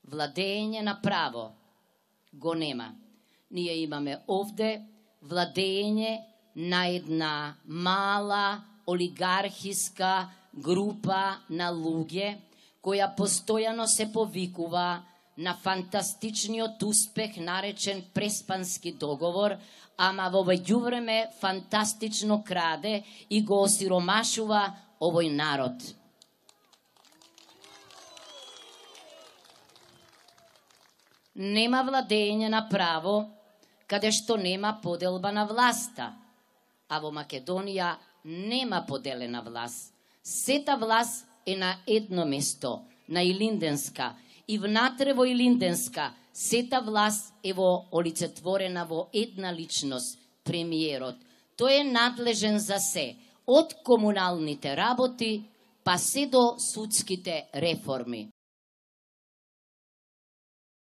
владење на право го нема. Ние имаме овде владење на една мала олигархиска група на луѓе која постојано се повикува на фантастичниот успех наречен Преспански договор, ама во меѓувреме фантастично краде и го осиромашува овој народ. Нема владење на право каде што нема поделба на власта, а во Македонија нема поделена власт. Сета власт е на едно место, на Илинденска, и внатре во Илинденска сета власт е олицетворена во една личност, премиерот. Тој е надлежен за се, од комуналните работи па се до судските реформи.